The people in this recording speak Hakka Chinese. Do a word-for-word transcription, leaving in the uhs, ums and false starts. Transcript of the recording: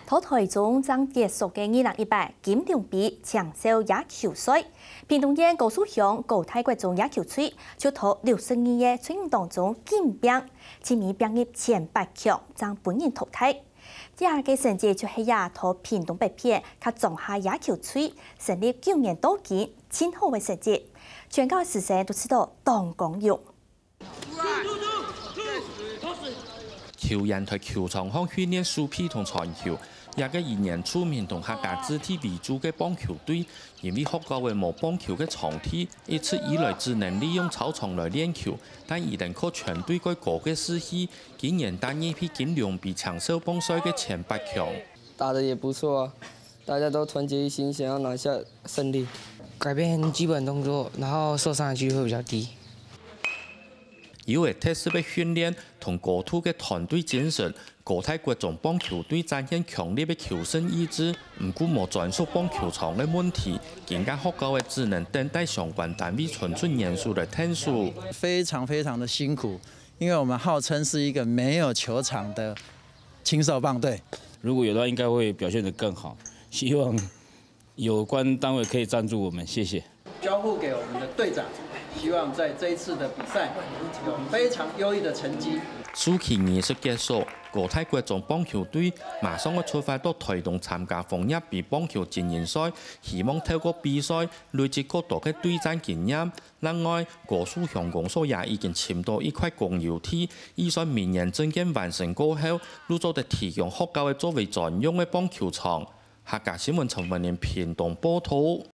在臺中正結束个二零一八金龍杯青少野球賽，屏東縣高樹鄉高大國中野球隊就在六十二个隊伍當中緊拚，盡尾拚入前八強，正分人淘汰。這个成績就係這在屏東北片佮莊下野球隊成立九年到今盡好个成績，全校師生都試著當光榮。 球員在球場項訓練手臂同傳球，這个以原住民同客家子弟為主个棒球隊，因為學校个無棒球个場地，一直以來只能利用操場來練球，但佢等靠全隊个高个士氣，今年打入去金龍杯青少棒賽个前八強。打得也不錯啊，大家都團結一心，想要拿下勝利。改變基本動作，然後受傷的機會比較低。 有个特色个訓練同高度个團隊精神，高大國中棒球隊展現強烈个求勝意志，毋過無專屬棒球場个問題，今屆學校个只能等待相關單位伸出援手來𢯭手。非常非常的辛苦，因為我們號稱是一個沒有球場的青少棒隊。如果有的話，應該會表現得更好。希望有關單位可以贊助我們，謝謝。交付給我們的隊長，希望在這一次的比賽有非常優異的成績。首期儀式結束，高大國中棒球隊馬上愛出發到臺東參加楓葉杯棒球精英賽，希望透過比賽累積較多个對戰經驗。另外，高樹鄉公所也已經尋到一塊公有地，預算明年正經完成過後，就做得提供學校个作為專用个棒球場。客家新聞陳文林屏東報導。